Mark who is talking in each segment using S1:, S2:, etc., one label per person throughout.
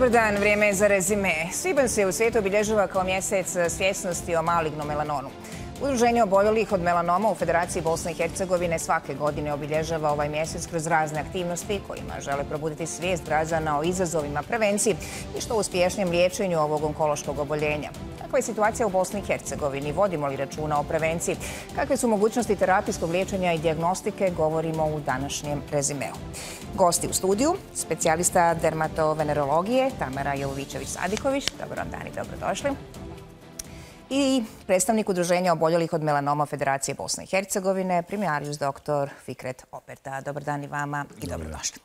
S1: Dobar dan, vrijeme je za rezime. Svibanj se u svijetu obilježava kao mjesec svjesnosti o malignom melanonu. Udruženje oboljelih od melanoma u Federaciji Bosne i Hercegovine svake godine obilježava ovaj mjesec kroz razne aktivnosti kojima žele probuditi svijest građana o izazovima prevenciji i što uspješnijem liječenju ovog onkološkog oboljenja. Kakva je situacija u Bosni i Hercegovini? Vodimo li računa o prevenciji? Kakve su mogućnosti terapijskog liječenja i dijagnostike? Govorimo u današnjem rezimeu. Gosti u studiju, specijalista dermatovenerologije Tamara Jovovićević-Sadiković. Dobar vam dan i dobrodošli. I predstavnik Udruženja oboljelih od melanoma Federacije Bosne i Hercegovine, primarius dr. Fikret Operta. Dobar dan i vama i dobrodošli.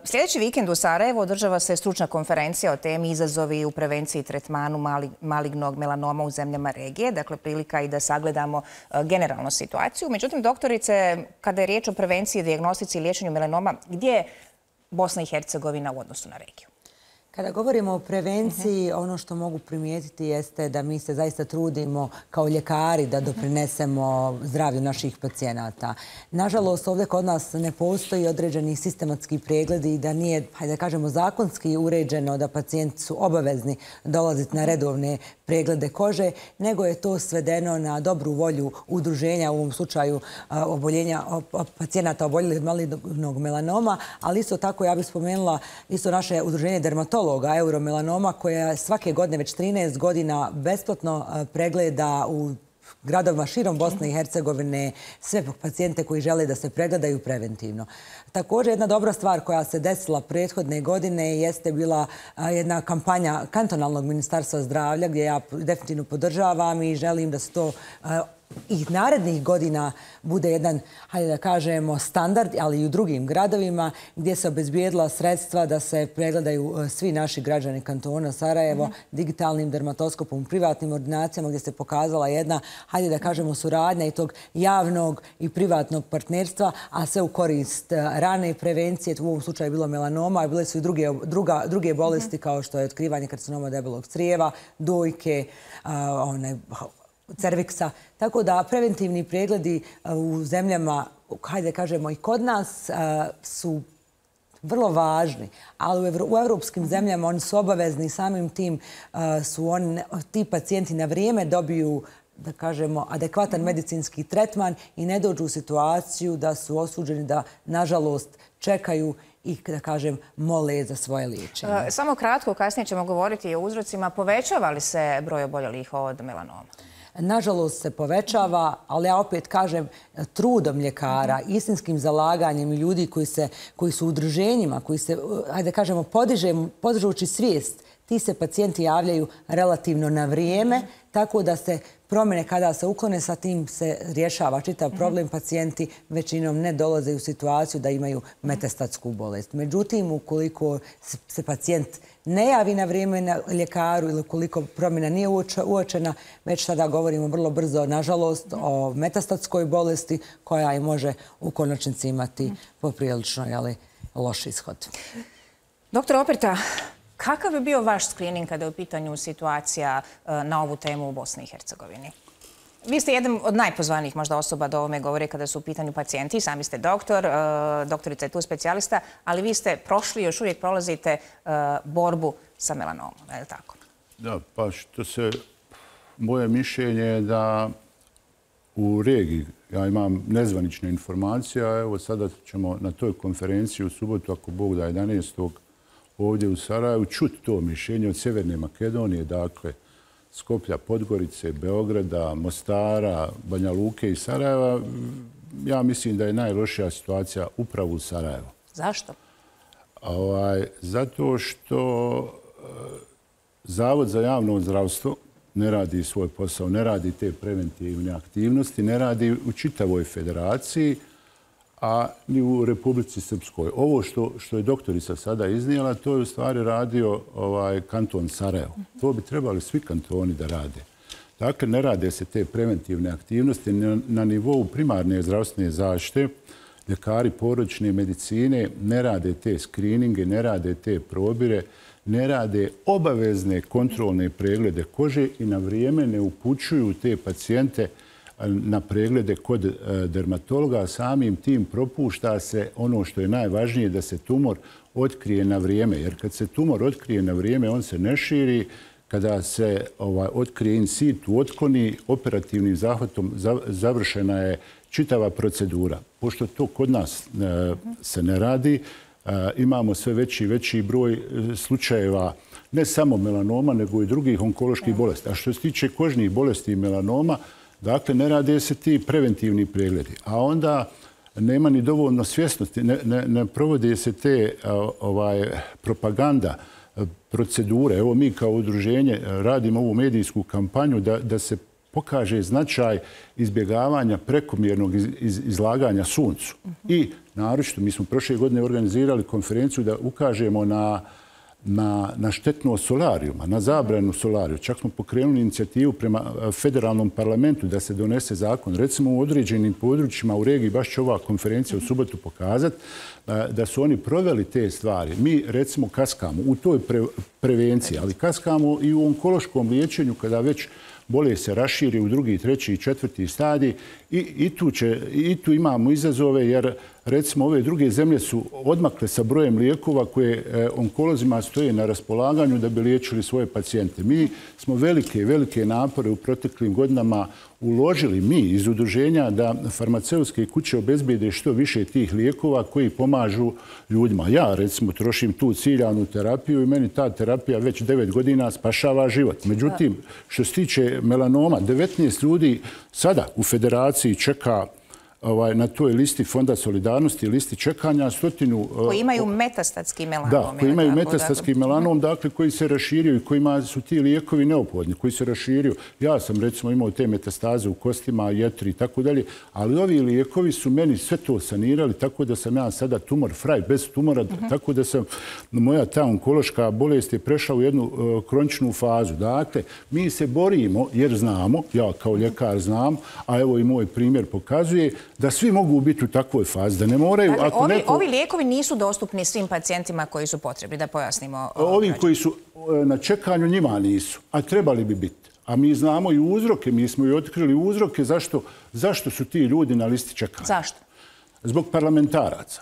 S1: Sljedeći vikend u Sarajevu održava se stručna konferencija o temi izazovi u prevenciji i tretmanu malignog melanoma u zemljama regije. Dakle, prilika i da sagledamo generalnu situaciju. Međutim, doktorice, kada je riječ o prevenciji, dijagnostici i liječenju melanoma, gdje je Bosna i Hercegovina u odnosu na regiju?
S2: Kada govorimo o prevenciji, ono što mogu primijetiti jeste da mi se zaista trudimo kao ljekari da doprinesemo zdravlju naših pacijenata. Nažalost, ovdje kod nas ne postoji određeni sistematski pregledi i da nije, hajde da kažemo, zakonski uređeno da pacijenti su obavezni dolaziti na redovne preglede kože, nego je to svedeno na dobru volju udruženja, u ovom slučaju pacijenata oboljelih od malignog melanoma, ali isto tako ja bih spomenula isto naše udruženje dermatologa Euromelanoma, koja svake godine već 13 godina besplatno pregleda u gradovima širom Bosne i Hercegovine sve pacijente koji žele da se pregledaju preventivno. Također, jedna dobra stvar koja se desila prethodne godine jeste bila jedna kampanja kantonalnog ministarstva zdravlja, gdje ja definitivno podržavam i želim da se to i narednih godina bude jedan, hajde da kažemo, standard, ali i u drugim gradovima gdje se obezbijedila sredstva da se pregledaju svi naši građani kantona Sarajevo digitalnim dermatoskopom u privatnim ordinacijama, gdje se pokazala jedna, hajde da kažemo, suradnja i tog javnog i privatnog partnerstva, a sve u korist rane prevencije. U ovom slučaju je bilo melanoma, a bile su i druge bolesti kao što je otkrivanje karcinoma debelog crijeva, dojke, cerviksa. Tako da preventivni pregledi u zemljama, hajde kažemo i kod nas, su vrlo važni, ali u evropskim zemljama oni su obavezni, samim tim su ti pacijenti na vrijeme dobiju, da kažemo, adekvatan medicinski tretman i ne dođu u situaciju da su osuđeni da, nažalost, čekaju i, da kažem, mole za svoje liječenje.
S1: Samo kratko, kasnije ćemo govoriti o uzrocima. Povećava li se broj oboljelih od melanoma?
S2: Nažalost se povećava, ali ja opet kažem trudom ljekara, istinskim zalaganjem ljudi koji su u udruženjima, koji se, hajde kažemo, podižući svijest, ti se pacijenti javljaju relativno na vrijeme, tako da se promjene kada se uklone, sa tim se rješava čitav problem. Pacijenti većinom ne dolaze u situaciju da imaju metastatsku bolest. Međutim, ukoliko se pacijent ne javi na vrijeme na ljekaru ili ukoliko promjena nije uočena, već sada govorimo vrlo brzo, nažalost, o metastatskoj bolesti koja i može u konačnici imati poprilično loš ishod.
S1: Doktor Operta, kakav je bio vaš screening kada je u pitanju situacija na ovu temu u Bosni i Hercegovini? Vi ste jedan od najpozvanijih možda osoba da ovome govore kada su u pitanju pacijenti. Sami ste doktor, doktorica je tu specijalista, ali vi ste prošli i još uvijek prolazite borbu sa melanomom, je li tako?
S3: Da, pa što se, moje mišljenje je da u regiji, ja imam nezvanične informacije, a evo sada ćemo na toj konferenciji u subotu, ako Bog da 11. ovdje u Sarajevu, čuti to mišljenje od Sjeverne Makedonije, dakle, Skoplja, Podgorice, Beograda, Mostara, Banja Luke i Sarajeva. Ja mislim da je najlošija situacija upravo u Sarajevu.
S1: Zašto?
S3: Zato što Zavod za javno zdravstvo ne radi svoj posao, ne radi te preventivne aktivnosti, ne radi u čitavoj federaciji, a ni u Republici Srpskoj. Ovo što je doktorica sada iznijela, to je u stvari radio kanton Sarajevo. To bi trebali svi kantoni da rade. Dakle, ne rade se te preventivne aktivnosti na nivou primarne zdravstvene zaštite. Ljekari porodične medicine ne rade te skrininge, ne rade te probire, ne rade obavezne kontrolne preglede kože i na vrijeme ne upućuju te pacijente na preglede kod dermatologa, samim tim propušta se ono što je najvažnije, da se tumor otkrije na vrijeme. Jer kad se tumor otkrije na vrijeme, on se ne širi. Kada se otkrije in situ, otkloni, operativnim zahvatom završena je čitava procedura. Pošto to kod nas se ne radi, imamo sve veći i veći broj slučajeva ne samo melanoma, nego i drugih onkoloških bolesti. A što se tiče kožnih bolesti i melanoma, dakle, ne rade se ti preventivni pregledi. A onda nema ni dovoljno svjesnosti, ne provode se te propaganda, procedure. Evo mi kao udruženje radimo ovu medijsku kampanju da se pokaže značaj izbjegavanja prekomjernog izlaganja suncu. I naročito, mi smo prošle godine organizirali konferenciju da ukažemo na štetnost solarijuma, na zabranu solariju. Čak smo pokrenuli inicijativu prema federalnom parlamentu da se donese zakon. Recimo u određenim područjima u regiji, baš će ova konferencija u subotu pokazati, da su oni proveli te stvari. Mi recimo kaskamo u toj prevenciji, ali kaskamo i u onkološkom liječenju kada već bolest se raširi u drugi, treći i četvrti stadij i tu imamo izazove jer recimo ove druge zemlje su odmakle sa brojem lijekova koje onkolozima stoje na raspolaganju da bi liječili svoje pacijente. Mi smo velike napore u proteklim godinama uložili mi iz udruženja da farmaceutske kuće obezbijede što više tih lijekova koji pomažu ljudima. Ja recimo trošim tu ciljanu terapiju i meni ta terapija već 9 godina spašava život. Međutim, što se tiče melanoma, 19 ljudi sada u federaciji čeka na toj listi Fonda solidarnosti, listi čekanja, 100...
S1: Koji imaju metastatski melanom.
S3: Da, koji imaju metastatski melanom, dakle, koji se raširio i kojima su ti lijekovi neophodni, koji se raširio. Ja sam, recimo, imao te metastaze u kostima, jetri i tako dalje, ali ovi lijekovi su meni sve to sanirali, tako da sam ja sada tumor fraj, bez tumora, tako da sam, moja ta onkološka bolest je prešla u jednu kroničnu fazu. Dakle, mi se borimo, jer znamo, ja kao ljekar znam, a evo i moj primjer pokazuje, da svi mogu biti u takvoj fazi, da ne moraju...
S1: Dakle, ovi lijekovi nisu dostupni svim pacijentima koji su potrebni, da pojasnimo.
S3: Ovi koji su na čekanju njima nisu, a trebali bi biti. A mi znamo i uzroke, mi smo i otkrili uzroke zašto su ti ljudi na listi čekanja.
S1: Zašto?
S3: Zbog parlamentaraca.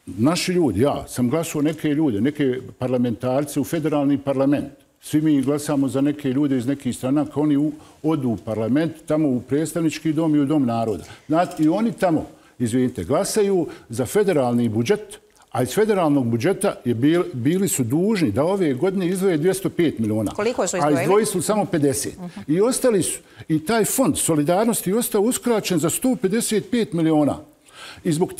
S3: Naši ljudi, ja sam glasao neke ljude, neke parlamentarce u federalni parlament. Svi mi glasamo za neke ljude iz nekih stranaka, oni odu u parlament, tamo u predstavnički dom i u dom naroda. Znate, i oni tamo, izvinite, glasaju za federalni budžet, a iz federalnog budžeta bili su dužni da ove godine izdvoje 205 miliona.
S1: Koliko su izdvojili?
S3: A izdvojili su samo 50. I ostali su, i taj fond solidarnosti je ostao uskraćen za 155 miliona. I zbog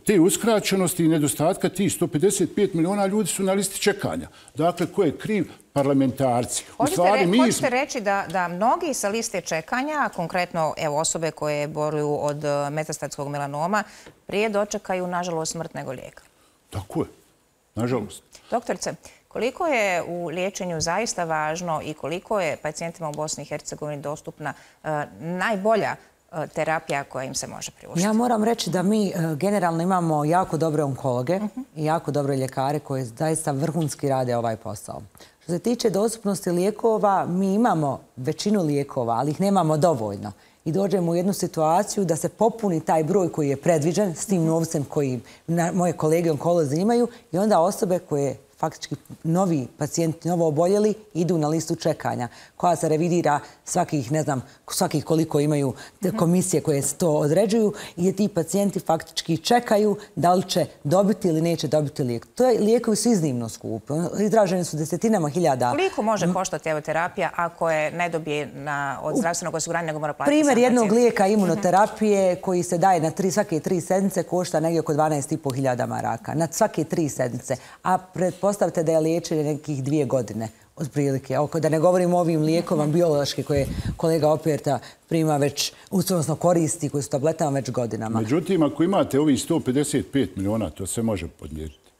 S3: te uskraćenosti i nedostatka tih 155 miliona ljudi su na listi čekanja. Dakle, ko je kriv? Parlamentarci.
S1: Hoćete reći da mnogi sa liste čekanja, konkretno osobe koje boluju od metastatskog melanoma, prije dočekaju, nažalost, smrt nego lijeka?
S3: Tako je. Nažalost.
S1: Doktorice, koliko je u liječenju zaista važno i koliko je pacijentima u Bosni i Hercegovini dostupna najbolja terapija koja im se može priuštiti?
S2: Ja moram reći da mi generalno imamo jako dobre onkologe i jako dobre ljekare koji zaista vrhunski rade ovaj posao. Što se tiče dostupnosti lijekova, mi imamo većinu lijekova, ali ih nemamo dovoljno. I dođemo u jednu situaciju da se popuni taj broj koji je predviđen s tim novcem koji moje kolege onkolozi imaju i onda osobe koje faktički novi pacijenti, novo oboljeli, idu na listu čekanja, koja se revidira svakih, ne znam, svakih koliko imaju komisije koje to određuju i ti pacijenti faktički čekaju da li će dobiti ili neće dobiti lijek. Lijekovi su iznimno skupi. Izraženi su desetinama hiljada.
S1: Koliko može koštati terapija ako je ne dobije od zdravstvenog osiguranja nego mora platiti?
S2: Primjer jednog lijeka imunoterapije koji se daje na svake 3 sedmice košta negdje oko 12.500 maraka. Na svake 3 sedmice. A pretpostavite da je liječenje nekih 2 godine. Otprilike. Da ne govorimo o ovim lijekovima biološki koje kolega Operta prima već, odnosno koristi, koji su tabletama već godinama.
S3: Međutim, ako imate ovih 155 miliona, to se može podmjeriti.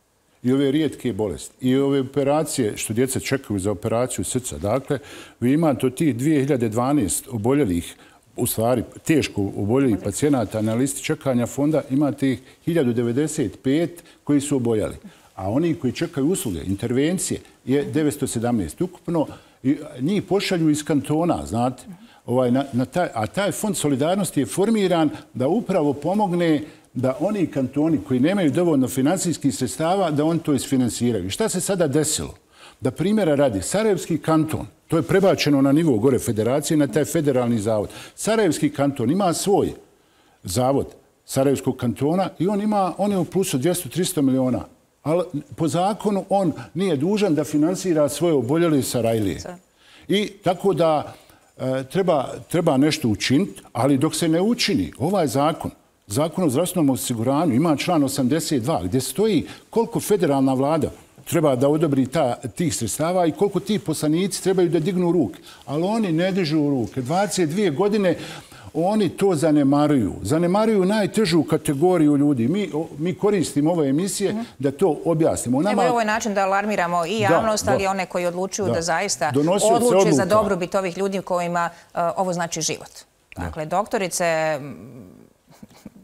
S3: I ove rijetke bolesti. I ove operacije, što djeca čekaju za operaciju srca. Dakle, vi imate od tih 2012 oboljelih, u stvari teško oboljelih pacijenata na listi čekanja fonda, imate ih 1095 koji su oboljeli. A oni koji čekaju usluge, intervencije, je 917 ukupno. Njih pošalju iz kantona, znate. A taj fond solidarnosti je formiran da upravo pomogne da oni kantoni koji nemaju dovoljno financijskih sredstava, da oni to isfinansiraju. Šta se sada desilo? Da primjera radi, Sarajevski kanton, to je prebačeno na nivo gore federacije, na taj federalni zavod. Sarajevski kanton ima svoj zavod Sarajevskog kantona i on je u plusu 200-300 miliona. Ali po zakonu on nije dužan da finansira svoje oboljele Sarajlije. I tako da treba nešto učiniti, ali dok se ne učini ovaj Zakon o zdravstvenom osiguranju ima član 82 gdje stoji koliko federalna vlada treba da odobri tih sredstava i koliko ti poslanici trebaju da dignu ruke. Ali oni ne dižu ruke. 22 godine oni to zanemaruju. Zanemaruju najtežu kategoriju ljudi. Mi koristimo ove emisije da to objasnimo.
S1: Evo je ovaj način da alarmiramo i javnost, ali i one koji odlučuju da zaista odluče za dobrobit ovih ljudi kojima ovo znači život. Dakle, doktorice,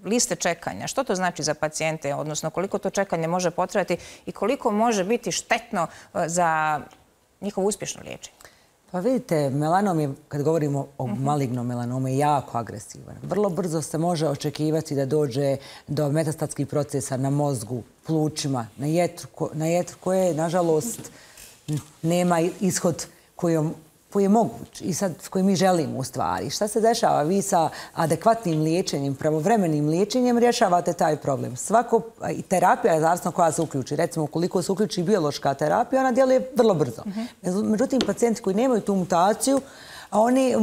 S1: liste čekanja, što to znači za pacijente, odnosno koliko to čekanje može potrajati i koliko može biti štetno za njihovo uspješno liječenje?
S2: Pa vidite, melanom je, kad govorimo o malignom melanomu, je jako agresivan. Vrlo brzo se može očekivati da dođe do metastatskih procesa na mozgu, plućima, na jetru koje, nažalost, nema ishod koji je moguć i sad koji mi želimo u stvari. Šta se dešava? Vi sa adekvatnim liječenjem, pravovremenim liječenjem rješavate taj problem. Terapija je zavisno koja se uključi. Recimo, ukoliko se uključi biološka terapija, ona djeluje vrlo brzo. Međutim, pacijenti koji nemaju tu mutaciju, oni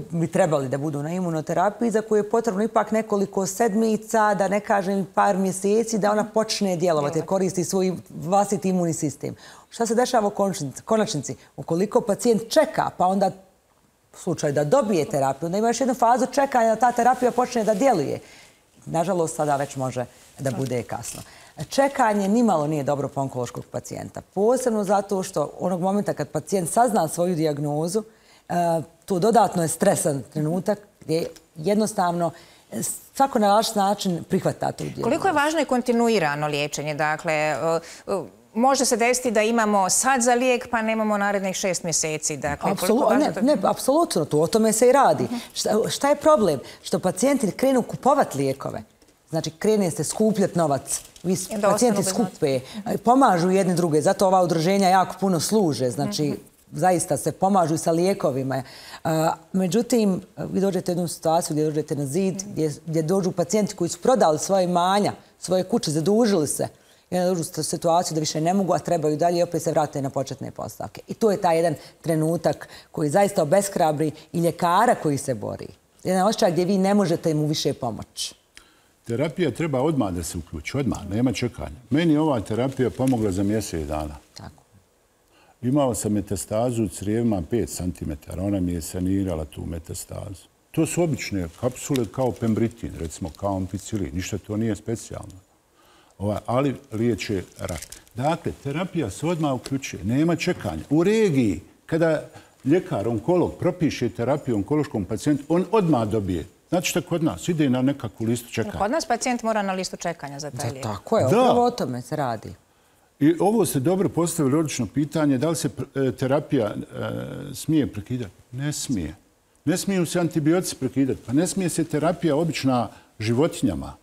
S2: bi trebali da budu na imunoterapiji za koju je potrebno ipak nekoliko sedmica, da ne kažem par mjeseci, da ona počne djelovati, koristi svoj vlastiti imunni sistem. Šta se dešava u konačnici? Ukoliko pacijent čeka, pa onda u slučaju da dobije terapiju, onda ima još jednu fazu čekanja da ta terapija počne da djeluje. Nažalost, sada već može da bude kasno. Čekanje nimalo nije dobro po onkološkog pacijenta. Posebno zato što onog momenta kad pacijent sazna svoju dijagnozu, to dodatno je stresan trenutak gdje jednostavno svako na različit način prihvata tu dijagnozu.
S1: Koliko je važno i kontinuirano liječenje? Dakle, može se desiti da imamo sad za lijek pa nemamo narednih 6 mjeseci.
S2: Apsolutno, o tome se i radi. Šta je problem? Što pacijenti krenu kupovati lijekove. Znači, krene se skupljati novac. Pacijenti skupe, pomažu jedni druge. Zato ova udruženja jako puno služe. Znači, zaista se pomažu sa lijekovima. Međutim, vi dođete u jednu situaciju gdje dođete na zid, gdje dođu pacijenti koji su prodali svoje imanja, svoje kuće, zadužili se. I onda dođu u situaciju da više ne mogu, a trebaju dalje i opet se vrate na početne postavke. I to je taj jedan trenutak koji zaista obeshrabri i ljekara koji se bori. Jedan osjećaj gdje vi ne možete mu više pomoći.
S3: Terapija treba odmah da se uključi, odmah, nema čekanja. Meni ova terapija pomogla za mjesec dana.
S2: Tako.
S3: Imao sam metastazu u crijevima 5 cm. Ona mi je sanirala tu metastazu. To su obične kapsule kao pembritin, recimo kao ampicilin. Ništa to nije specijalno. Ali liječe rak. Dakle, terapija se odmah uključuje. Nema čekanja. U regiji, kada ljekar, onkolog, propiše terapiju onkološkom pacijentu, on odmah dobije. Znači što kod nas ide na nekakvu listu čekanja.
S1: Kod nas pacijent mora na listu čekanja za taj lijek.
S2: Tako je, upravo o tome se radi.
S3: I ovo ste dobro postavili odlično pitanje, da li se terapija smije prekidati? Ne smije. Ne smiju se antibiotici prekidati. Pa ne smije se terapija obična životinjama.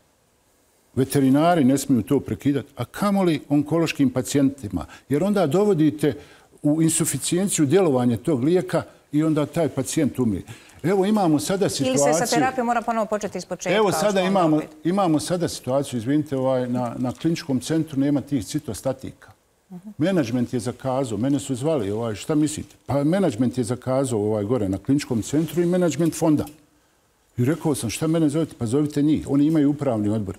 S3: Veterinari ne smiju to prekidati. A kamoli onkološkim pacijentima? Jer onda dovodite u insuficijenciju djelovanja tog lijeka i onda taj pacijent umije. Evo imamo sada situaciju...
S1: Ili se sa terapijom mora ponovo početi iz početka.
S3: Evo sada imamo sada situaciju, izvinite, na kliničkom centru nema tih citostatika. Menadžment je zakazao, mene su zvali, šta mislite? Pa menadžment je zakazao gore na kliničkom centru i menadžment fonda. I rekao sam, šta mene zovete? Pa zovite njih. Oni imaju upravni odbor.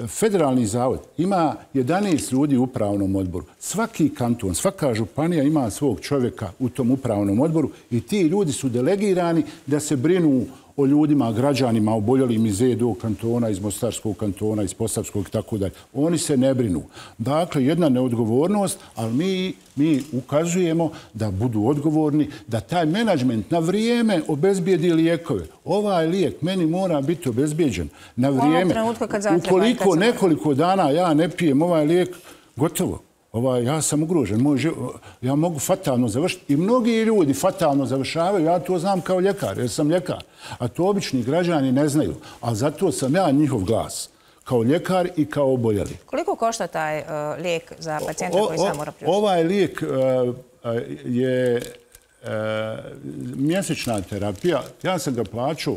S3: Federalni zavod ima 11 ljudi u upravnom odboru. Svaki kanton, svaka županija ima svog čovjeka u tom upravnom odboru i ti ljudi su delegirani da se brinu o ljudima, građanima, oboljelim iz EDO kantona, iz Mostarskog kantona, iz Posavskog i tako dalje. Oni se ne brinu. Dakle, jedna neodgovornost, ali mi ukazujemo da budu odgovorni, da taj menadžment na vrijeme obezbijedi lijekove. Ovaj lijek meni mora biti obezbijeđen na vrijeme. Ukoliko nekoliko dana ja ne pijem ovaj lijek, gotovo. ja sam ugrožen, ja mogu fatalno završiti. I mnogi ljudi fatalno završavaju, ja to znam kao ljekar, jer sam ljekar. A to obični građani ne znaju. A zato sam ja njihov glas, kao ljekar i kao oboljeli.
S1: Koliko košta taj lijek za pacijenta koji sam mora priuštiti?
S3: Ovaj lijek je mjesečna terapija. Ja sam ga plaćao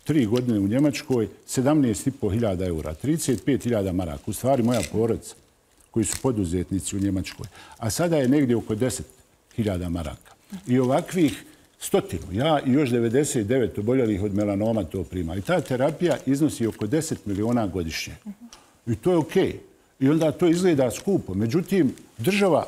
S3: 3 godine u Njemačkoj, 17.500 eura, 35.000 maraka. U stvari moja porodica, koji su poduzetnici u Njemačkoj. A sada je negdje oko 10.000 maraka. I ovakvih 100, ja i još 99 oboljelih od melanoma to prima. I ta terapija iznosi oko 10 miliona godišnje. I to je okej. I onda to izgleda skupo. Međutim, država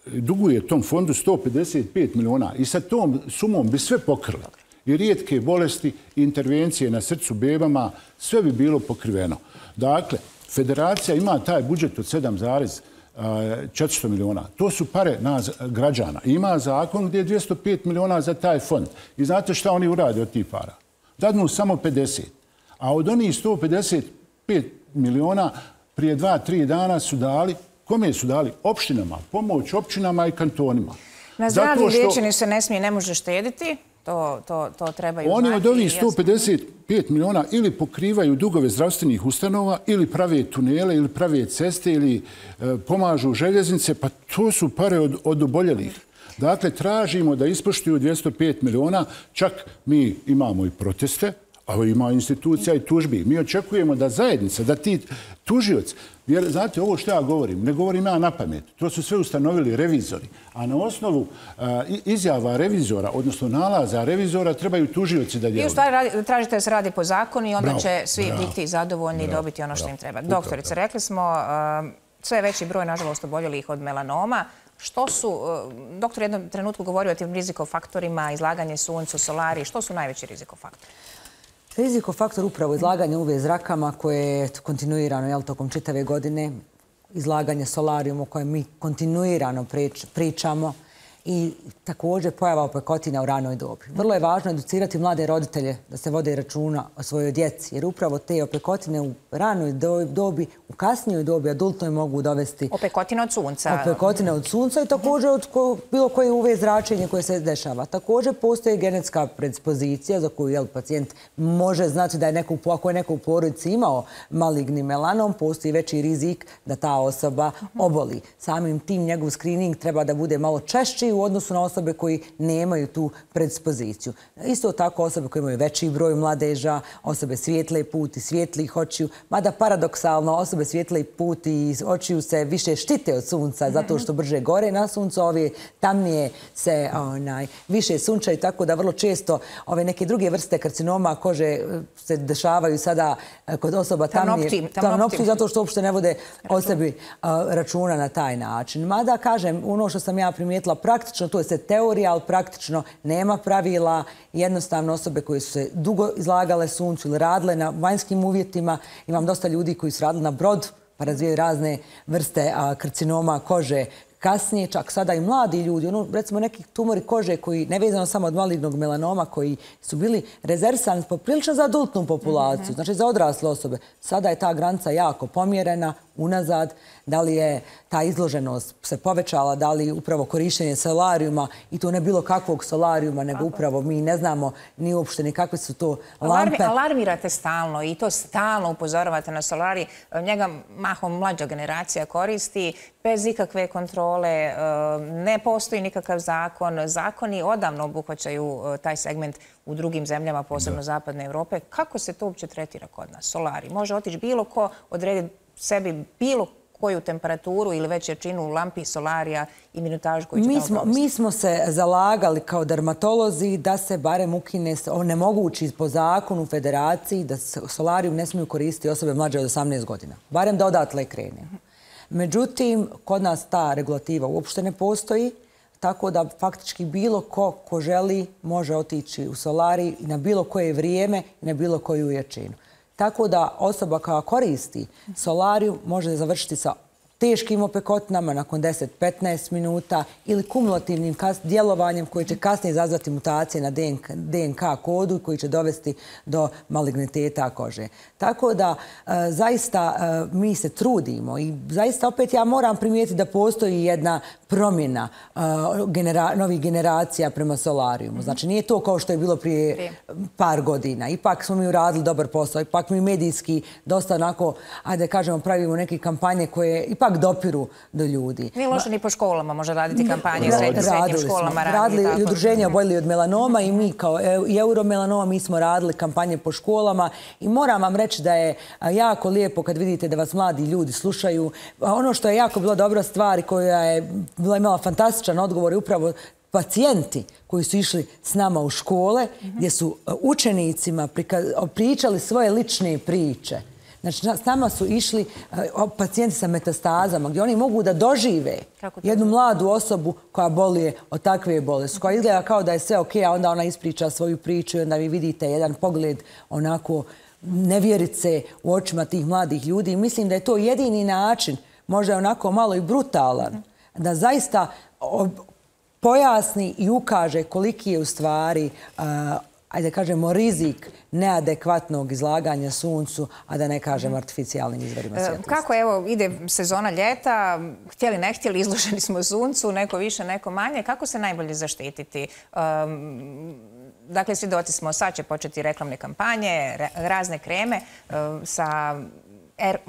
S3: duguje tom fondu 155 miliona i sa tom sumom bi sve pokrila. I rijetke bolesti, intervencije na srcu bebama, sve bi bilo pokriveno. Dakle, federacija ima taj budžet od 7,400 miliona. To su pare nas građana. Ima zakon gdje je 205 miliona za taj fond. I znate šta oni urade od tih para? Dadnu samo 50. A od onih 155 miliona prije 2-3 dana su dali, kome su dali? Opštinama. Pomoć opštinama i kantonima.
S1: Na zdravlju liječenju se ne smije, ne može štediti. To trebaju
S3: znati. Oni od ovih 155 miliona ili pokrivaju dugove zdravstvenih ustanova, ili prave tunele, ili prave ceste, ili pomažu željeznice, pa to su pare od oboljelih. Dakle, tražimo da ispoštuju 205 miliona, čak mi imamo i proteste, a ima institucija i tužbi. Mi očekujemo da zajednica, da ti tužioci, jer znate, ovo što ja govorim, ne govorim ja na pamet, to su sve ustanovili revizori, a na osnovu izjava revizora, odnosno nalaza revizora, trebaju tužioci da djeluju.
S1: I u stvari tražite da se radi po zakonu i onda će svi biti zadovoljni i dobiti ono što im treba. Doktorice, rekli smo sve veći broj, nažalost, oboljelih od melanoma. Što su, doktor je jednom trenutku govorio o tim rizikofaktorima, izlaganje suncu, solari, što su najveći rizikofaktori?
S2: Rizikofaktor upravo izlaganje UV zrakama koje je kontinuirano tokom čitave godine, izlaganje solarijumu o kojem mi kontinuirano pričamo i također pojava opekotina u ranoj dobi. Vrlo je važno educirati mlade roditelje da se vode računa o svojoj djeci, jer upravo te opekotine u ranoj dobi, u kasnijoj dobi adultnoj mogu dovesti...
S1: Opekotine od sunca.
S2: Opekotine od sunca i također od bilo koje UV zračenje koje se dešava. Također postoji genetska predispozicija za koju pacijent može znati da je ako je neko u porodici imao maligni melanom, postoji veći rizik da ta osoba oboli. Samim tim njegov screening treba da bude malo češći u odnosu na osobe koji nemaju tu predispoziciju. Isto tako osobe koje imaju veći broj mladeža, osobe svijetle puti, svjetlih očiju, mada paradoksalno osobe svijetle puti i očiju se više štite od sunca zato što brže gore na suncu, ove tamnije se više sunčaju, tako da vrlo često ove neke druge vrste karcinoma kože se dešavaju sada kod osoba tamnopti, zato što uopšte ne vode o sebi računa na taj način. Mada, kažem, ono što sam ja primijetila praktično, to je sve teorija, ali praktično nema pravila. Jednostavno osobe koje su se dugo izlagale suncu ili radile na vanjskim uvjetima, imam dosta ljudi koji su radili na brodu, pa razvijaju razne vrste karcinoma kože. Kasnije, čak sada i mladi ljudi, recimo neki tumori kože koji, nevezano samo od malignog melanoma, koji su bili rezervisani poprilično za adultnu populaciju, znači za odrasle osobe. Sada je ta granica jako pomjerena, unazad. Da li je ta izloženost se povećala, da li upravo korištenje solarijuma, i to ne bilo kakvog solarijuma, nego upravo mi ne znamo ni uopšte ni kakve su to lampe.
S1: Alarmirate stalno i to stalno upozoravate na solarij. Njega mahom mlađa generacija koristi bez ikakve kontrole, ne postoji nikakav zakon. Zakoni odavno obuhvaćaju taj segment u drugim zemljama, posebno zapadne Evrope. Kako se to uopće tretira kod nas? Solarij. Može otići bilo ko, odrediti sebi bilo koju temperaturu ili već jačinu lampi, solarija i minutažu koju će tamo provesti?
S2: Mi smo se zalagali kao dermatolozi da se barem ukine, onemogući po zakonu federaciji da solarijum ne smiju koristiti osobe mlađe od 18 godina. Barem da odatle krene. Međutim, kod nas ta regulativa uopšte ne postoji, tako da faktički bilo ko želi može otići u solarij na bilo koje vrijeme i na bilo koju jačinu. Tako da osoba koja koristi solariju može završiti sa teškim opekotinama nakon 10-15 minuta ili kumulativnim djelovanjem koji će kasnije izazvati mutacije na DNK kodu koji će dovesti do maligniteta kože. Tako da zaista mi se trudimo i zaista opet ja moram primijetiti da postoji jedna promjena novih generacija prema solarijumu. Znači nije to kao što je bilo prije par godina. Ipak smo mi uradili dobar posao, ipak mi medijski dosta onako, ajde kažemo, pravimo neke kampanje koje ipak dopiru do ljudi.
S1: Nije loše ni po školama može raditi kampanje, srednjim školama.
S2: Radili i udruženja oboljeli od melanoma i mi kao i Euromelanoma mi smo radili kampanje po školama i moram vam reći da je jako lijepo kad vidite da vas mladi ljudi slušaju. Ono što je jako bila dobra stvar i koja je imala fantastičan odgovor je upravo pacijenti koji su išli s nama u škole gdje su učenicima pričali svoje lične priče. Znači, s nama su išli pacijenti sa metastazama gdje oni mogu da dožive jednu mladu osobu koja boluje od takve bolesti, koja izgleda kao da je sve ok, a onda ona ispriča svoju priču i onda vi vidite jedan pogled onako nevjerice u očima tih mladih ljudi. I mislim da je to jedini način, možda je onako malo i brutalan, da zaista pojasni i ukaže koliki je u stvari, ajde kažemo, rizik neadekvatnog izlaganja suncu, a da ne kažem artificijalnim izvorima svjetlosti.
S1: Kako, evo, ide sezona ljeta, htjeli ne htjeli, izloženi smo suncu, neko više, neko manje. Kako se najbolje zaštititi? Dakle, svjedoci smo, sad će početi reklamne kampanje, razne kreme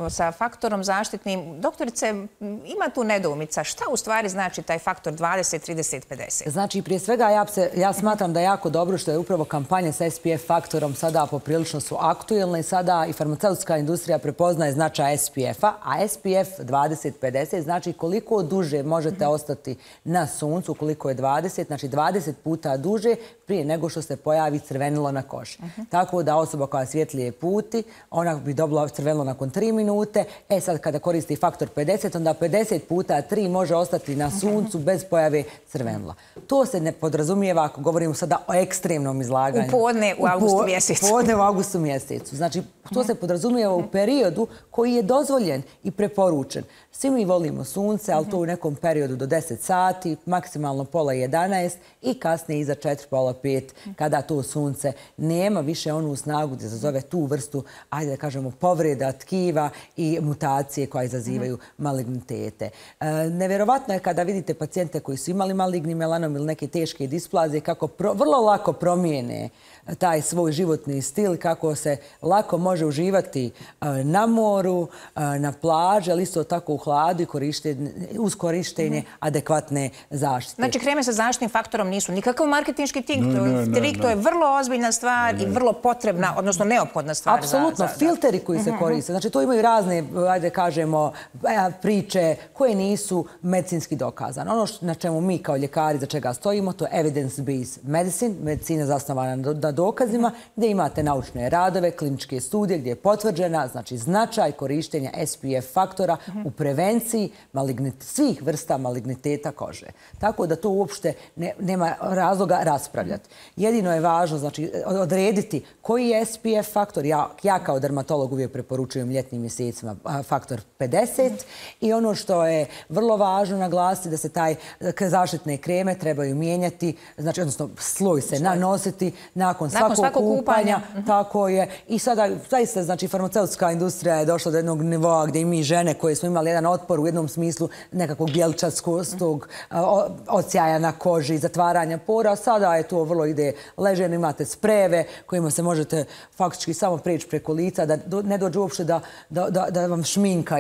S1: sa faktorom zaštitnim. Doktorice, ima tu nedoumica. Šta u stvari znači taj faktor 20, 30, 50?
S2: Znači, prije svega ja smatram da je jako dobro što je upravo kampanje sa SPF faktorom sada poprilično su aktuelne i sada i farmaceutska industrija prepoznaje značaj SPF-a, a SPF 20, 50 znači koliko duže možete ostati na suncu, koliko je 20, znači 20 puta duže prije nego što se pojavi crvenilo na koži. Tako da osoba koja svjetlije puti, ona bi dobila crvenilo nakon 3 minute. Sad kada koristi faktor 50, onda 50 puta 3 može ostati na suncu bez pojave crvenila. To se ne podrazumijeva ako govorimo sada o ekstremnom izlaganju.
S1: U podne u avgustu mjesecu.
S2: U podne u avgustu mjesecu. Znači, to se podrazumijeva u periodu koji je dozvoljen i preporučen. Svi mi volimo sunce, ali to u nekom periodu do 10 sati, maksimalno pola 11 i kasnije iza 4, pola 5, kada to sunce nema više onu snagu da zazove tu vrstu, ajde da kažemo, povreda tkiva i mutacije koje izazivaju malignitete. Nevjerovatno je kada vidite pacijente koji su imali maligni melanom ili neke teške displazije, kako vrlo lako promijene taj svoj životni stil, kako se lako može uživati na moru, na plaži, ali isto tako u hladu i uz korištenje adekvatne zaštite.
S1: Znači, kreme sa zaštitnim faktorom nisu nikakav marketinški trik, to je vrlo ozbiljna stvar i vrlo potrebna, odnosno neophodna stvar.
S2: Apsolutno, filteri koji se koriste. Znači, to imaju razne, ajde kažemo, priče koje nisu medicinski dokazane. Ono na čemu mi kao ljekari za čega stojimo, to je evidence-based medicine, medicina zasnovana na dokazima, gdje imate naučne radove, kliničke studije, gdje je potvrđena znači značaj korištenja SPF faktora u prevenciji svih vrsta maligniteta kože. Tako da to uopšte nema razloga raspravljati. Jedino je važno znači odrediti koji je SPF faktor. Ja kao dermatolog uvijek preporučujem ljetnim mjesecima faktor 50 i ono što je vrlo važno naglasiti da se taj zaštitne kreme trebaju mijenjati, znači odnosno sloj se nanositi nakon svakog kupanja. Tako je. I sada zaista znači farmaceutska industrija je došla do jednog nivoa gdje i mi žene koje smo imali jedan otpor u jednom smislu nekakvog bjelčastog odsjaja na koži, zatvaranja pora. Sada je to vrlo ide leženo, imate sprejeve kojima se možete faktički samo preći preko lica, da ne dođe uopšte da vam šminka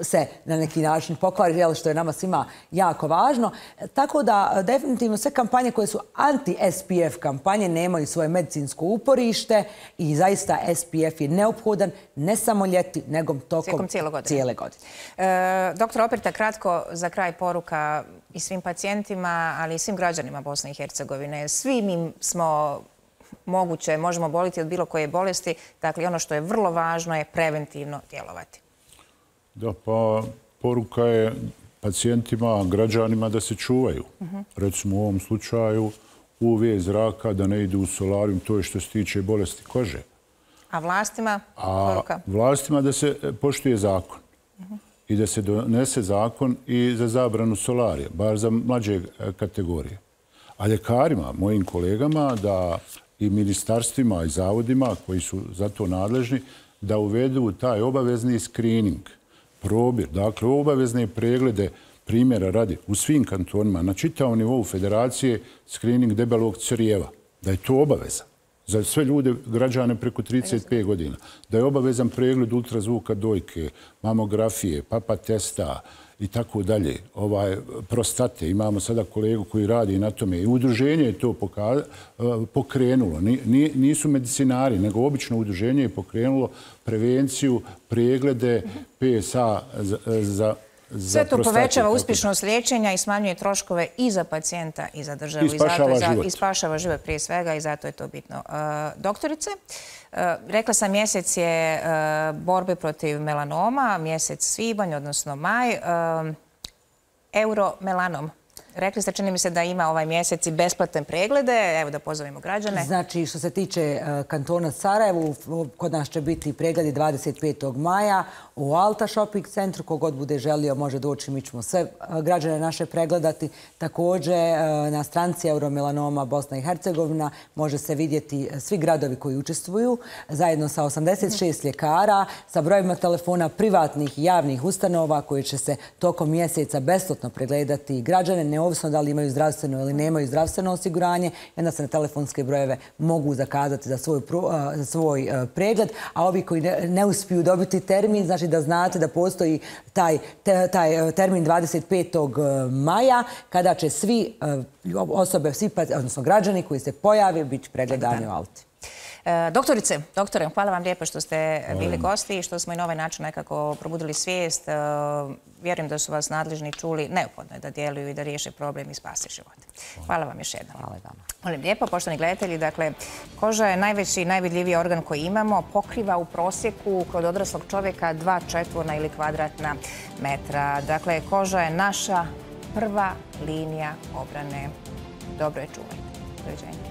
S2: se na neki način pokvari, što je nama svima jako važno. Tako da definitivno sve kampanje koje su anti-SPF kampanje nemaju svoje medicinsko uporište i zaista SPF je neophodan ne samo ljeti, nego tokom cijele godine.
S1: Doktor Operta, kratko za kraj poruka i svim pacijentima, ali i svim građanima Bosne i Hercegovine. Svi mi smo možemo boliti od bilo koje bolesti. Dakle, ono što je vrlo važno je preventivno djelovati. Da,
S3: pa poruka je pacijentima, građanima da se čuvaju. Recimo u ovom slučaju UV zraka, da ne idu u solarijum, to je što se tiče bolesti kože.
S1: A vlastima?
S3: A vlastima da se poštuje zakon. i da se donese zakon i za zabranu solarija, bar za mlađe kategorije. A ljekarima, mojim kolegama, da i ministarstvima i zavodima koji su za to nadležni, da uvedu taj obavezni screening, probir, dakle obavezne preglede primjera radi u svim kantonima, na čitavom nivou federacije, screening debelog crijeva, da je to obaveza za sve ljude, građane preko 35 godina, da je obavezan pregled ultrazvuka dojke, mamografije, papa testa i tako dalje, prostate. Imamo sada kolegu koji radi na tome i udruženje je to pokrenulo. Nisu medicinari, nego obično udruženje je pokrenulo prevenciju, preglede PSA za
S1: sve to povećava uspješnost liječenja i smanjuje troškove i za pacijenta i za državu.
S3: I
S1: spašava život prije svega i zato je to bitno. Doktorice, rekla sam mjesec je borbe protiv melanoma, mjesec svibanj, odnosno maj. Euromelanom. Rekli ste, čini mi se da ima ovaj mjesec i besplatne preglede. Evo da pozovemo građane.
S2: Znači, što se tiče kantona Sarajevo, kod nas će biti pregledi 25. maja u Alta shopping centru. Kogod bude želio može doći, mi ćemo sve građane naše pregledati. Također na stranci Euromelanoma Bosna i Hercegovina može se vidjeti svi gradovi koji učestvuju zajedno sa 86 ljekara, sa brojima telefona privatnih i javnih ustanova koji će se tokom mjeseca besplatno pregledati građane, neovisno da li imaju zdravstveno ili nemaju zdravstveno osiguranje. Onda se na telefonske brojeve mogu zakazati za svoj pregled, a ovi koji ne uspiju dobiti termin, znači da znate da postoji taj termin 25. maja kada će svi osobe, odnosno građani koji se pojave biti pregledani u Alti.
S1: Doktore, hvala vam lijepo što ste bili gosti i što smo i na ovaj način nekako probudili svijest. Vjerujem da su vas nadležni čuli. Neophodno je da djeluju i da riješe problem i spase živote. Hvala vam još jednom.
S2: Hvala vama.
S1: Molim lijepo, poštovani gledatelji, dakle, koža je najveći i najvidljiviji organ koji imamo. Pokriva u prosjeku kod odraslog čovjeka 2 četvorna ili kvadratna metra. Dakle, koža je naša prva linija obrane. Dobro je čuvajte. Doviđenja.